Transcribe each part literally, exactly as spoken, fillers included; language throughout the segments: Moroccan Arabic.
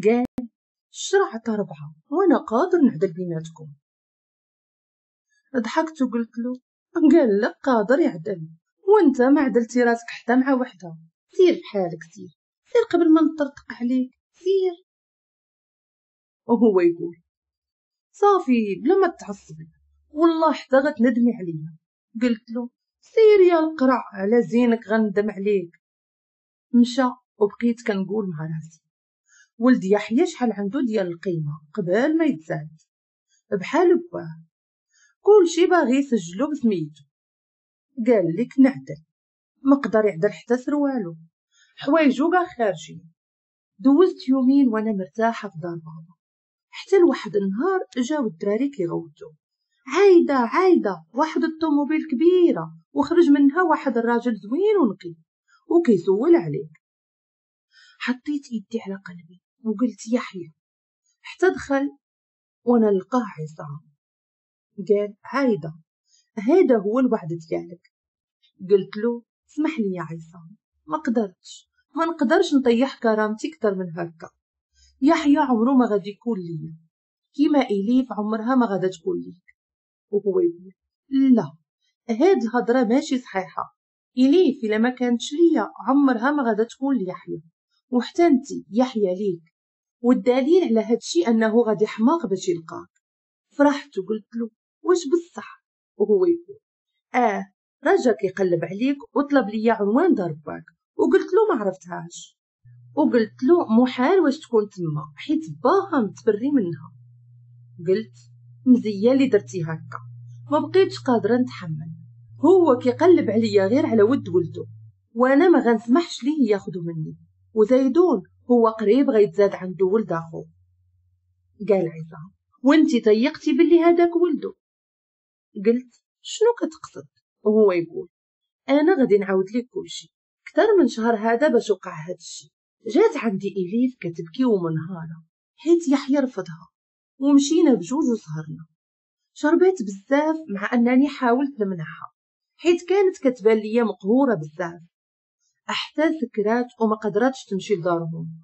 قال الشرع عطا ربعة وانا قادر نعدل بيناتكم. ضحكت وقلت له قال لك قادر يعدل وانت ما عدلتي راسك حتى مع وحده. سير بحالك، سير سير قبل ما نطرطق عليك، سير. وهو يقول صافي بلا ما تعصبي والله حتى غتندمي عليا. قلت له سير يا القرع على زينك غندم عليك. مشى وبقيت كنقول مع راسي ولد يحيى شحال عنده ديال القيمة قبل ما يتزاد، بحال باه كلشي باغي يسجلو بسميتو. قال لك نعدل، ما قدر يعدل حتى سروالو، حوايجو كاع خارجين. دوزت يومين وانا مرتاحة في دار بابا، حتى لواحد النهار جاو الدراري كيغوتو عايدة عايدة، واحد الطوموبيل كبيرة وخرج منها واحد الراجل زوين ونقي وكيسول عليك. حطيت يدي على قلبي وقلت يحيى، حتى دخل وانا نلقاه عصام. قال عايدة هذا هو الوعد ديالك. قلت له اسمح لي يا عصام ما قدرتش، ما نقدرش نطيح كرامتي اكثر من هكا. يحيى عمره ما غادي يكون ليا كيما اليف عمرها ما غادا تكون ليك. وهو يقول لا هاد الهضرة ماشي صحيحه، اليف الا ما كانتش ليا عمرها ما غادا تكون ليحيى، وحتى انت يحيى ليك، والدليل على هادشي انه غادي حماق باش يلقاك. فرحت وقلت له واش بصح؟ وهو يقول اه رجا كيقلب عليك وطلب ليا عنوان دار باك، وقلت له ما عرفتهاش، وقلت له محال واش تكون تما حيت باها متبري منها. قلت مزية اللي درتي هكا، ما بقيتش قادرة نتحمل، هو كيقلب عليا غير على ود ولده وانا ما غنسمحش ليه ياخذو مني، وزيدون هو قريب غيتزاد عنده ولد اخو. قال عصام وانتي طيقتي باللي هذاك ولده. قلت شنو كتقصد؟ وهو يقول انا غادي نعاود لك كلشي، اكثر من شهر هذا باش وقع هذا الشيء. جات عندي اليف كتبكي ومنهاره حيت يحيى رفضها، ومشينا بجوج وسهرنا. شربات بزاف مع انني حاولت نمنعها حيت كانت كتبان ليا مقهوره بزاف، حتى سكرات وما قدرتش تمشي لدارهم.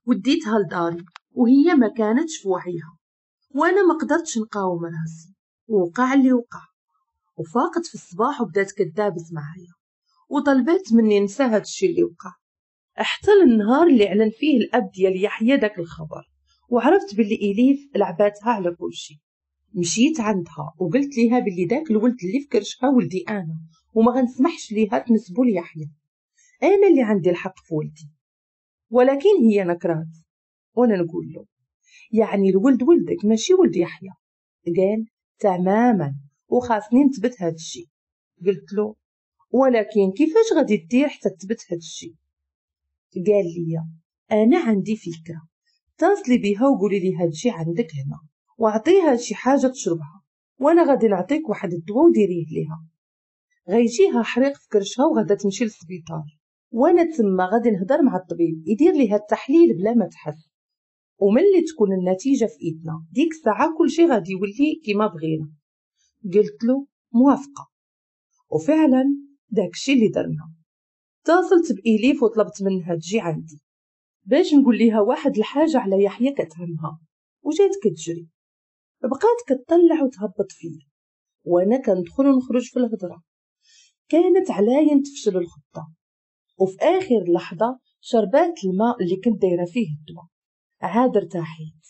وديتها لداري وهي ما كانتش في وعيها، وانا ما قدرتش نقاوم راسي ووقع اللي وقع. وفاقت في الصباح وبدات كدابس معايا وطلبات مني نسى هاد الشيء اللي وقع، حتى للنهار اللي اعلن فيه الاب ديال يحيى داك الخبر، وعرفت باللي اليف لعباتها على كلشي. مشيت عندها وقلت ليها باللي داك الولد اللي في كرشها ولدي انا، وما غنسمحش ليها تنسبو ليحيى، انا اللي عندي الحق في ولدي. ولكن هي نكرات، وانا نقول له يعني الولد ولدك ماشي ولد يحيى. قال تماما وخاصني نثبت هذا الشيء. قلت له ولكن كيفاش غادي دير حتى تثبت هذا الشيء؟ قال لي انا عندي فكرة، اتصلي بها وقولي لي هادشي عندك هنا واعطيها شي حاجة تشربها، وانا غادي نعطيك واحد الدواء وديريه ليها، غيجيها حريق في كرشها وغادا تمشي للسبيطار، وانا تما غادي نهضر مع الطبيب يدير ليها التحليل بلا ما تحس، وملي تكون النتيجة في ايدنا ديك الساعة كلشي غادي يولي كيما بغينا. قلت له موافقة، وفعلا داكشي اللي درنا. اتصلت بإليف وطلبت منها تجي عندي باش نقول ليها واحد الحاجة على يحيى كتهمها، وجات كتجري بقات كتطلع وتهبط فيا وانا كندخل ونخرج في الهضرة. كانت علاين تفشل الخطة، وفي اخر لحظة شربات الماء اللي كنت دايرة فيه الدواء. عاد ارتاحيت.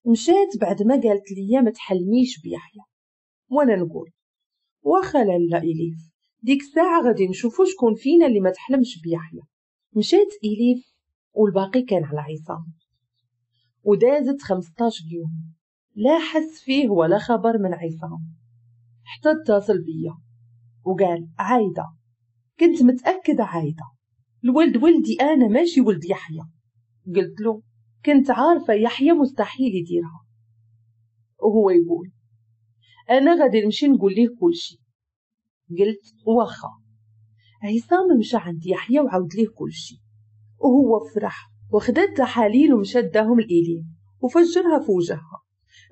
مشات بعد ما قالت لي ما تحلميش بيحيى، وانا نقول واخا لالا اليف ديك الساعة غادي نشوفو شكون فينا اللي ما تحلمش بيحيى. مشات اليف والباقي كان على عصام، ودازت خمسطاش يوم لا حس فيه ولا خبر من عصام، حتى اتصل بيا وقال عايدة كنت متاكدة عايدة الولد ولدي انا ماشي ولد يحيى. قلت له كنت عارفه يحيى مستحيل يديرها. وهو يقول انا غادي نمشي نقول ليه كلشي. قلت واخا. عصام مشى عند يحيى وعاود ليه كلشي، وهو فرح وخدا التحاليل ومشى داهم لإليف وفجرها في وجهها.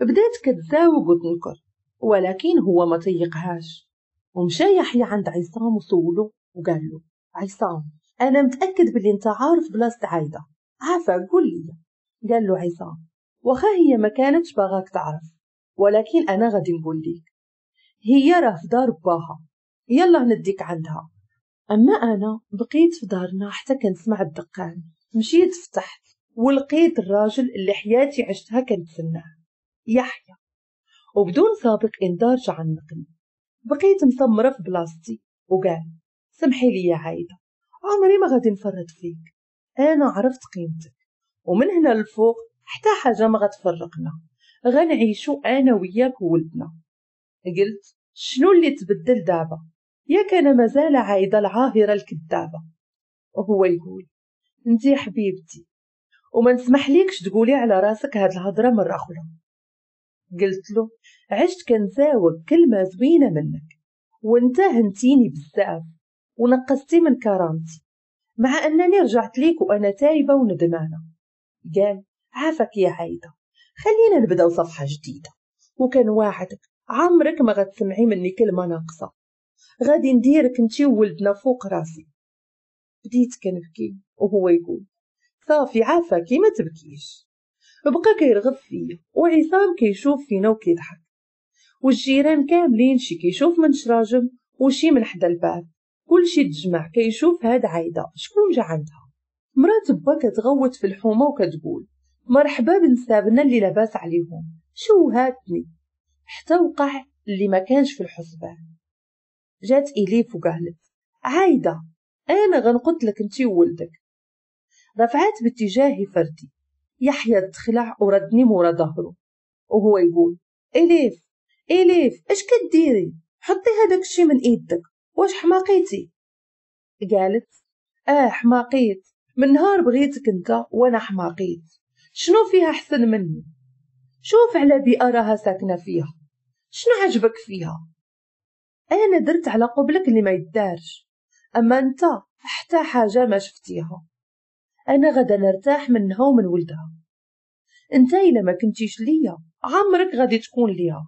بدات كتزاوج وتنكر، ولكن هو ما طيقهاش. ومشى يحيى عند عصام وسولو وقال له عصام انا متاكد بلي انت عارف بلاصة عايدة، عافا قول لي. قال له عصام واخا هي ما كانتش باغاك تعرف، ولكن انا غادي نقول لك هي راه في دار باها، يلا نديك عندها. اما انا بقيت في دارنا حتى كنسمع الدقان. مشيت فتحت ولقيت الراجل اللي حياتي عشتها كنتسناه، يحيى، وبدون سابق انذار جا عنقني. بقيت مسمره في بلاصتي وقال سمحي لي يا عايدة، عمري ما غادي نفرط فيك، انا عرفت قيمتك، ومن هنا للفوق حتى حاجة ما غتفرقنا، غنعيشو انا وياك وولدنا. قلت شنو اللي تبدل دابا؟ ياك انا مازال عايدة العاهره الكذابه. وهو يقول انتي حبيبتي وما نسمح ليكش تقولي على راسك هاد الهضرة مرة اخرى. قلت له عشت كنزاوق كلمة زوينة منك، وانت هنتيني بزاف ونقصتي من كرامتي، مع انني رجعت ليك وانا تايبه وندمانه. قال عافاك يا عايدة، خلينا نبداو صفحة جديدة، وكان واعدك عمرك ما غتسمعي مني كلمة ناقصه، غادي نديرك انتي وولدنا فوق راسي. بديت كنبكي وهو يقول صافي عافاكي ما تبكيش. بقى كيرغب فيا وعصام كيشوف فينا وكيضحك، والجيران كاملين شي كيشوف من شراجم وشي من حدا الباب، كلشي تجمع كيشوف هاد عايدة شكون جا عندها. مرات با كتغوت في الحومه وكتقول مرحبا بنسابنا اللي لاباس عليهم، شو هاتني، حتى وقع اللي ما كانش في الحسبان. جات إليف وقالت عايدة انا غنقتلك انتي وولدك. رفعت باتجاهي فردي، يحيى تخلع وردني مورا ظهره وهو يقول إليف إليف اش كديري؟ حطي هذاك الشي من ايدك، واش حماقيتي؟ قالت اه حماقيت، من نهار بغيتك انت وانا حماقيت، شنو فيها احسن مني؟ شوف على بيئة راها ساكنة فيها، شنو عجبك فيها؟ انا درت على قبلك اللي ما يدارش، اما انت حتى حاجة ما شفتيها. انا غدا نرتاح منها ومن ولدها، انت الا ما كنتيش ليا عمرك غادي تكون ليها.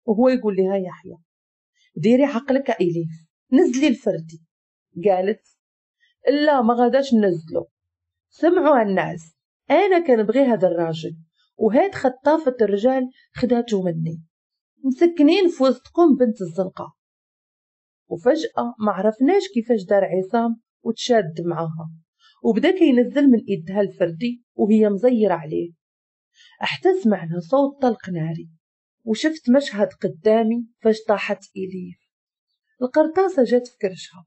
وهو يقول لها يحيى ديري عقلك إليف، نزلي الفردي. قالت لا ما غاداش ننزلو، سمعوا الناس انا كنبغي هذا الراجل، وهاد خطافة الرجال خداتو مني، مسكنين في وسطكم بنت الزنقة. وفجأة ما عرفناش كيفاش دار عصام وتشاد معاها، وبدا كينزل من ايدها الفردي وهي مزيرة عليه، حتى سمعنا صوت طلق ناري، وشفت مشهد قدامي فاش طاحت إليف. القرطاسة جات في كرشها،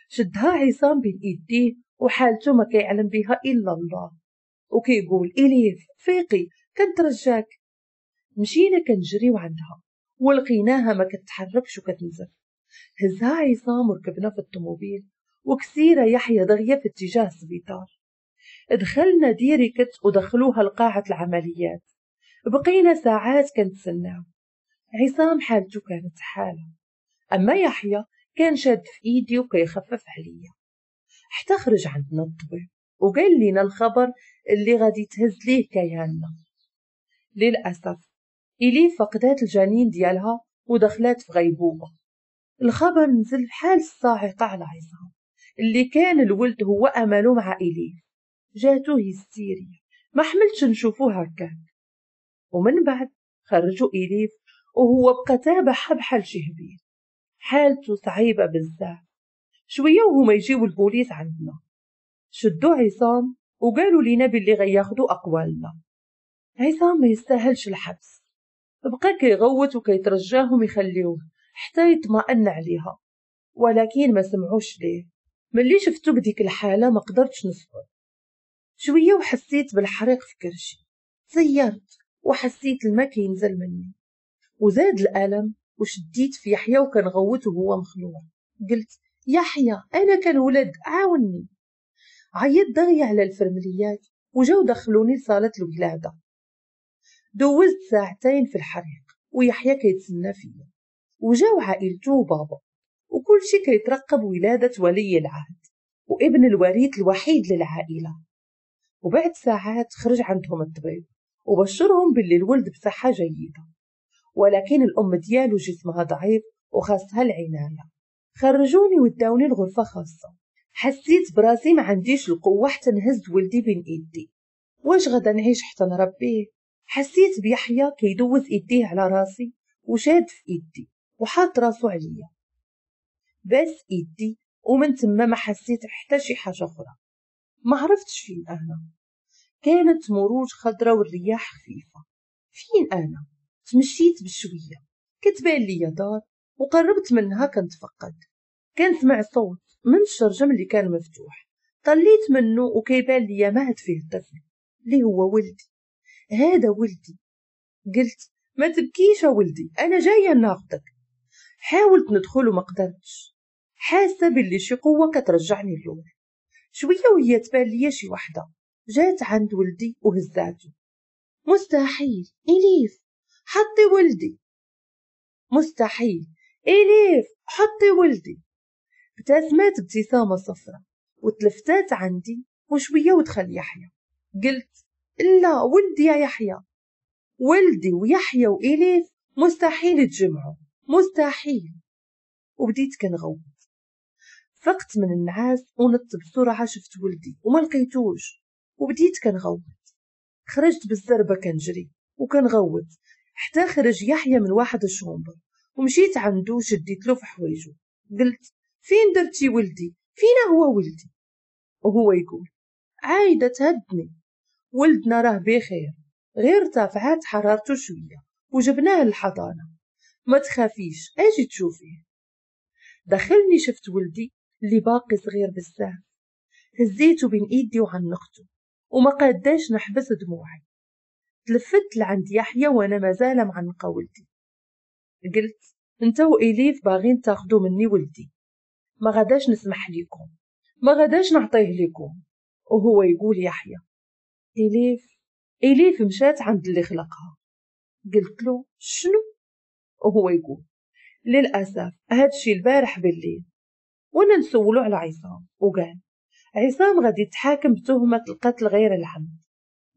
شدها عصام بين ايديه وحالته ما كيعلم بها الا الله، وكيقول إليف فيقي كنترجاك. مشينا كنجريو عندها ولقيناها ما كتحركش وكتنزف. هزها عصام وركبنا في الطوموبيل، وكسيرة يحيى دغيا في اتجاه السبيطار. دخلنا direct ودخلوها لقاعة العمليات، بقينا ساعات كنتسناو. عصام حالته كانت حالة، أما يحيى كان شاد في إيدي وكيخفف عليا، حتى خرج عندنا الطبيب وقال لنا الخبر اللي غادي تهز ليه كياننا. للأسف إلي فقدات الجنين ديالها ودخلات في غيبوبة. الخبر نزل بحال الصاعقة على عصام اللي كان الولد هو أمله مع إليف. جاتو هستيريا ما حملتش نشوفوه هكاك. ومن بعد خرجوا إليف وهو بقى تابعها بحال شي هبيل، حالته صعيبة بزاف. شوية وهما يجيو البوليس عندنا، شدوا عصام وقالوا لينا باللي غياخدوا أقوالنا. عصام ما يستاهلش الحبس، بقى كيغوت وكيترجاهم يخليوه حتى يطمئن عليها، ولكن ما سمعوش ليه. ملي شفتو بديك الحالة ما قدرتش نصبر. شوية وحسيت بالحريق في كرشي، زيرت وحسيت الماء كينزل مني وزاد الألم، وشديت في يحيى وكنغوت وهو مخلوع. قلت يحيى أنا كنولد عاوني. عيط دغيا على الفرمليات وجاو دخلوني لصالة الولادة. دوزت ساعتين في الحريق ويحيى كيتسنى فيا، وجاو عائلته وبابا وكل شي كيترقب ولادة ولي العهد وابن الوريث الوحيد للعائلة. وبعد ساعات خرج عندهم الطبيب وبشرهم باللي الولد بصحة جيدة، ولكن الأم ديالو جسمها ضعيف وخاصها العناية. خرجوني وداوني لغرفة خاصة. حسيت براسي ما عنديش القوة حتى نهز ولدي بين ايدي. واش غدا نعيش حتى نربيه؟ حسيت بيحيى كيدوز ايديه على راسي وشاد في ايدي وحاط راسو عليا، بس ايدي، ومن تما ما حسيت حتى شي حاجة اخرى. ما عرفتش فين انا. كانت مروج خضرة والرياح خفيفة. فين انا؟ تمشيت بشوية، كتبان لي دار وقربت منها كنتفقد. كنسمع صوت من الشرجم اللي كان مفتوح، طليت منه وكيبان لي مهد فيه الطفل اللي هو ولدي. هذا ولدي. قلت ما تبكيش يا ولدي، انا جاية ناخدك. حاولت ندخل وما قدرتش، حاسه باللي شي قوة كترجعني اللور. شوية وهي تبان لي شي وحده جات عند ولدي وهزاتو. مستحيل اليف حطي ولدي، مستحيل اليف حطي ولدي. ابتسمت ابتسامة صفرة وتلفتات عندي، وشوية ودخل يحيى. قلت لا ولدي يا يحيى، ولدي ويحيى وإليف مستحيل يتجمعوا، مستحيل. وبديت كنغوت. فقت من النعاس ونط بسرعة، شفت ولدي وما لقيتوش، وبديت كنغوت. خرجت بالزربة كنجري وكنغوت حتى خرج يحيى من واحد ال chambre، ومشيت عنده وشديت له في حوايجو. قلت فين درتي ولدي؟ فين هو ولدي؟ وهو يقول عايدة تهدني، ولدنا راه بخير، غير ارتفعت حرارته شوية وجبناه للحضانة، ما تخافيش اجي تشوفيه. دخلني شفت ولدي اللي باقي صغير بزاف، هزيته بين ايدي وعنقته وما قاداش نحبس دموعي. تلفت لعند يحيى وانا مازال معنقه ولدي. قلت انت وإليف باغين تاخدو مني ولدي، ما غاداش نسمح لكم، ما غاداش نعطيه لكم. وهو يقول يحيى إليف إليف مشات عند اللي خلقها. قلت له شنو؟ وهو يقول للأسف هادشي البارح بالليل. وانا نسولو على عصام وقال عصام غادي يتحاكم بتهمة القتل غير العمد.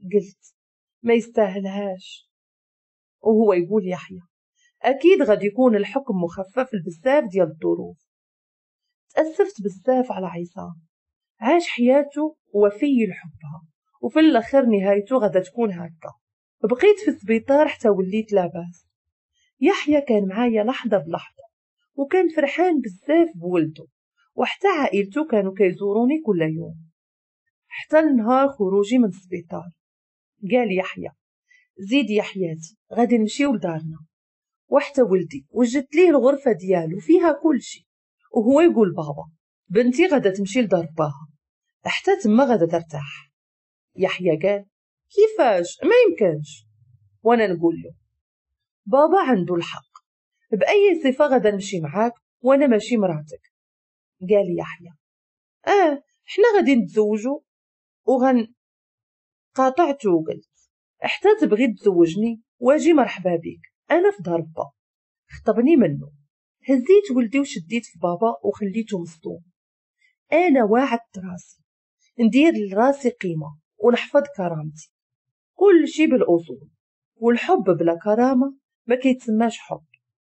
قلت ما يستاهلهاش. وهو يقول يحيى أكيد غادي يكون الحكم مخفف بزاف ديال الظروف. تأسفت بزاف على عصام، عاش حياته وفي لحبها، وفي الاخر نهايته غادا تكون هكا. بقيت في السبيطار حتى وليت لاباس. يحيى كان معايا لحظة بلحظة، وكان فرحان بزاف بولده، وحتى عائلته كانوا كيزوروني كل يوم حتى النهار خروجي من السبيطار. قال يحيى زيد يا حياتي غادي نمشيو لدارنا، وحتى ولدي وجدت ليه الغرفة ديالو فيها كل شيء. وهو يقول بابا بنتي غادا تمشي لدار باها حتى تما غادا ترتاح. يحيى قال كيفاش؟ ما يمكنش. وانا نقول له بابا عنده الحق، باي صفة غادا نمشي معاك وانا ماشي مراتك؟ قال يحيى اه حنا غادي نتزوجوا وغن قاطعته وقلت حتى تبغي تزوجني واجي مرحبا بك، انا في دار با. خطبني منه. هزيت ولدي وشديت في بابا وخليته مصدوم. انا واعدت راسي ندير لراسي قيمة ونحفظ كرامتي، كل شي بالاصول، والحب بلا كرامة ما كيتسماش حب،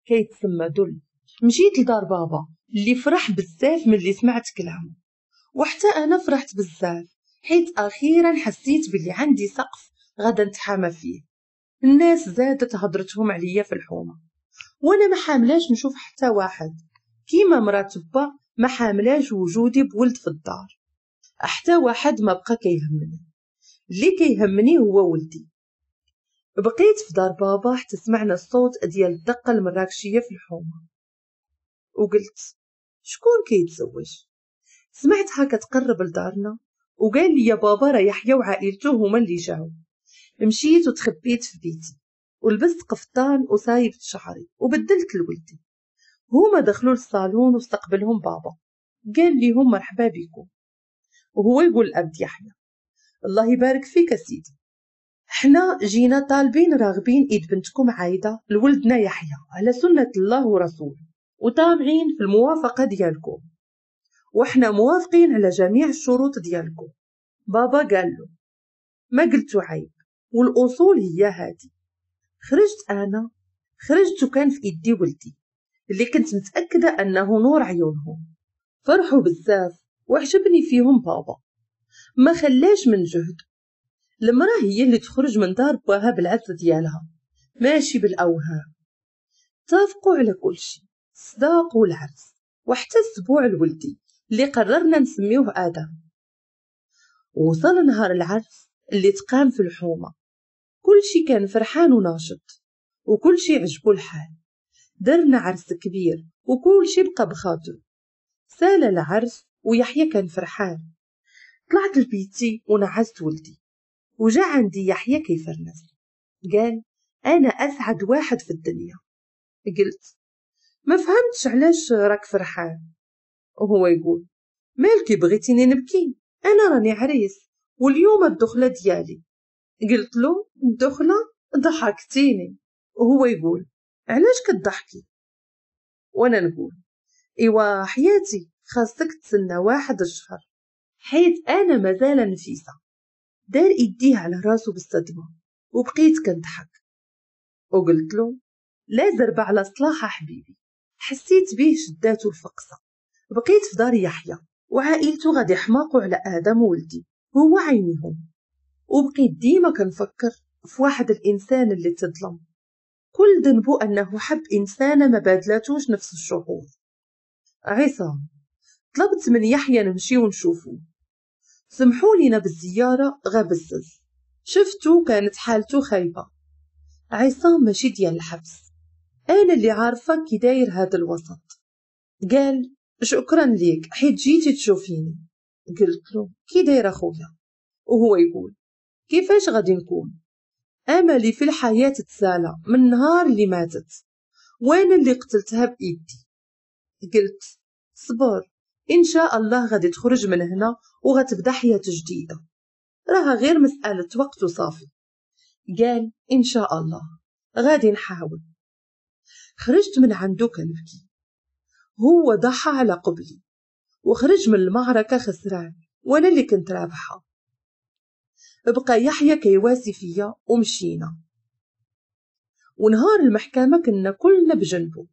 كيتسمى ذل. مشيت لدار بابا اللي فرح بزاف من اللي سمعت كلامه، وحتى انا فرحت بزاف حيت اخيرا حسيت باللي عندي سقف غادا نتحامى فيه. الناس زادت هضرتهم عليا في الحومه، وانا ما حاملاش نشوف حتى واحد، كيما مرات با ما حاملاش وجودي بولد في الدار. حتى واحد ما بقى كيهمني، اللي كيهمني هو ولدي. بقيت في دار بابا حتى سمعنا الصوت ديال الدقة المراكشيه في الحومه، وقلت شكون كيتزوج؟ سمعتها كتقرب لدارنا، وقال لي يا بابا راه يحيى وعائلته هما اللي جاو. مشيت وتخبيت في بيتي ولبست قفطان وصايبت شعري وبدلت لولدي. هما دخلوا للصالون واستقبلهم بابا، قال ليهم مرحبا بكم. وهو يقول الأب يحيى الله يبارك فيك سيدي، حنا جينا طالبين راغبين ايد بنتكم عايدة لولدنا يحيى على سنة الله ورسوله، وطامعين في الموافقة ديالكم، وحنا موافقين على جميع الشروط ديالكم. بابا قال له ما قلتو عيب، والاصول هي هادي. خرجت انا، خرجت وكان في ايدي ولدي اللي كنت متاكدة انه نور عيونهم. فرحوا بزاف وعجبني فيهم بابا، ما خلاش من جهد. المرأة هي اللي تخرج من دار باها بالعز ديالها ماشي بالاوهام. اتفقوا على كل شيء، الصداق والعرس وحتى السبوع الولدي اللي قررنا نسميوه آدم. وصل نهار العرس اللي تقام في الحومة، كل شي كان فرحان وناشط وكل شي عجبو الحال. درنا عرس كبير وكل شي بقى بخاطره. سال العرس ويحيى كان فرحان. طلعت لبيتي ونعست ولدي، وجا عندي يحيى كيفرنس. قال انا اسعد واحد في الدنيا. قلت ما فهمتش علاش راك فرحان. وهو يقول مالكي بغيتيني نبكي؟ انا راني عريس واليوم الدخلة ديالي. قلت له الدخلة؟ ضحكتيني. وهو يقول علاش كتضحكي؟ وانا نقول ايوا حياتي خاصك تسنى واحد الشهر حيت انا مازال نفيسة. دار ايديه على راسو بالصدمة وبقيت كنضحك. وقلت له لا زربه على صلاحه حبيبي. حسيت به شداتو الفقصه. بقيت في دار يحيى وعائلته غادي يحماقوا على ادم ولدي هو عينيهم. وبقيت ديما كنفكر في واحد الانسان اللي تظلم، كل ذنبه انه حب انسانه ما بادلاتوش نفس الشعور. عصام طلبت من يحيى نمشي ونشوفه. سمحوا لينا بالزيارة غابزز. شفتو كانت حالته خايبة. عصام ماشي ديال الحبس، انا اللي عارفه كي داير هذا الوسط. قال شكرا ليك حيت جيتي تشوفيني. قلت له كي داير اخويا؟ وهو يقول كيفاش غادي نكون؟ املي في الحياة تسالى من نهار اللي ماتت وانا اللي قتلتها بايدي. قلت صبر ان شاء الله غادي تخرج من هنا وغتبدا حياة جديدة، راها غير مسالة وقت وصافي. قال ان شاء الله غادي نحاول. خرجت من عنده كنبكي. هو ضحى على قبلي وخرج من المعركة خسران وانا اللي كنت رابحه. بقى يحيى كيواسي فيا ومشينا. ونهار المحكمة كنا كلنا بجنبه.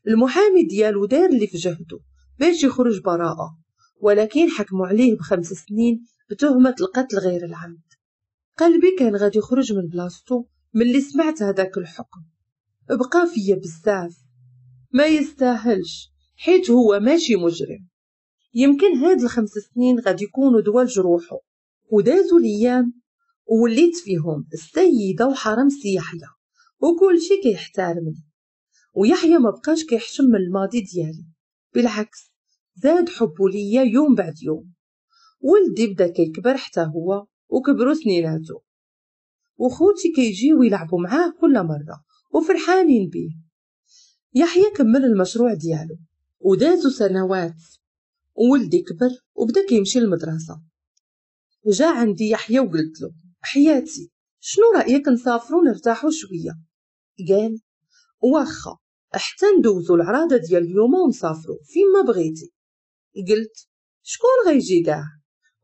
المحامي ديالو دار اللي في جهده باش يخرج براءة، ولكن حكموا عليه بخمس سنين بتهمة القتل غير العمد. قلبي كان غادي يخرج من بلاصتو ملي سمعت هذاك الحكم. بقى فيا بزاف، ما يستاهلش حيت هو ماشي مجرم. يمكن هاد الخمس سنين غادي يكونوا دوا لجروحو. ودازوا الايام ووليت فيهم السيدة وحرم سي يحيى وكل شي كيحترمني. ويحيى ما بقاش كيحشم من الماضي ديالي، بالعكس زاد حبه ليا يوم بعد يوم. ولدي بدا كيكبر حتى هو وكبروا سنيناتو، وخوتي كيجيو يلعبوا معاه كل مرة وفرحانين بيه. يحيى كمل المشروع ديالو ودازو سنوات وولدي كبر وبدا كيمشي للمدرسة. جا عندي يحيى وقلت له حياتي شنو رايك نسافروا نرتاحوا شوية؟ قال واخا حتى ندوزو العراضه ديال اليوم ونسافروا فيما بغيتي. قلت شكون غيجي كاع؟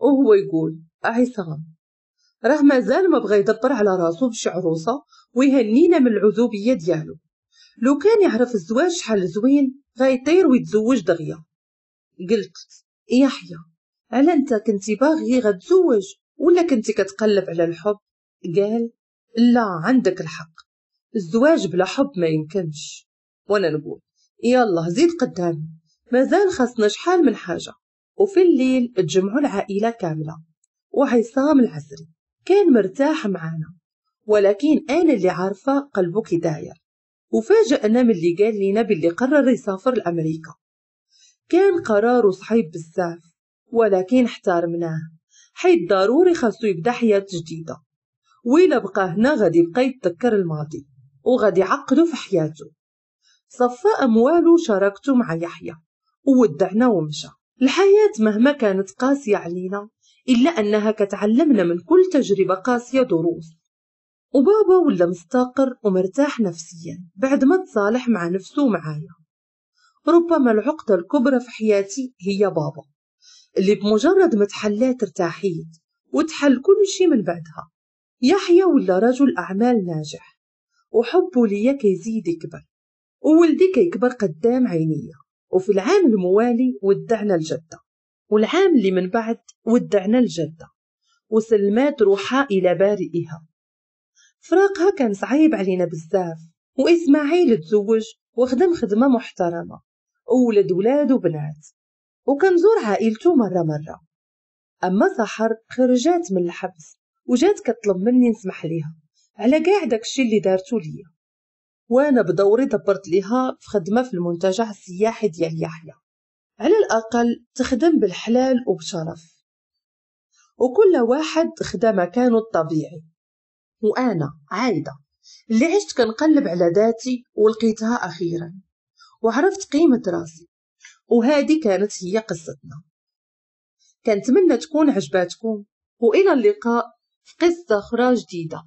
وهو يقول عصام راه مازال ما بغى يدبر على راسو بشي عروسه ويهنينا من العزوبيه ديالو. لو كان يعرف الزواج شحال زوين غيطير ويتزوج دغيا. قلت يحيى على انت كنتي باغي غتزوج ولا كنتي كتقلب على الحب؟ قال لا عندك الحق، الزواج بلا حب ما يمكنش. وانا نقول يلا زيد قدامي مازال خاصنا شحال من حاجة. وفي الليل تجمعوا العائلة كاملة وعصام العسري كان مرتاح معانا، ولكن انا اللي عارفه قلبه كي داير. وفاجأنا من اللي قال لينا باللي قرر يسافر لامريكا. كان قراره صعيب بزاف ولكن احترمناه حيت ضروري خاصو يبدا حياة جديدة، وإلا بقى هنا غادي يبقى يتذكر الماضي وغادي يعقدو في حياته. صفى أموالو شاركته مع يحيى وودعنا ومشى. الحياة مهما كانت قاسية علينا إلا أنها كتعلمنا من كل تجربة قاسية دروس. وبابا ولا مستقر ومرتاح نفسيا بعد ما تصالح مع نفسه ومعايا. ربما العقدة الكبرى في حياتي هي بابا اللي بمجرد ما تحلات ارتاحيت وتحل كل شي من بعدها. يحيى ولا رجل أعمال ناجح وحبه ليا كيزيد يكبر وولدي كيكبر قدام عينيا. وفي العام الموالي ودعنا الجدة، والعام اللي من بعد ودعنا الجدة، وسلمات روحها إلى بارئها. فراقها كان صعيب علينا بزاف، وإسماعيل تزوج وخدم خدمة محترمة وولد ولاد وبنات، وكنزور عائلته مرة مرة. أما سحر خرجات من الحبس وجات كطلب مني نسمح ليها على كاع داكشي اللي دارتو ليا، وانا بدوري دبرت ليها في خدمة في المنتجع السياحي ديال يحيى، على الأقل تخدم بالحلال وبشرف، وكل واحد خدا مكانه الطبيعي. وأنا عايدة اللي عشت كنقلب على ذاتي ولقيتها أخيرا، وعرفت قيمة راسي. وهذه كانت هي قصتنا. كنتمنى تكون عجباتكم، وإلى اللقاء في قصة أخرى جديدة.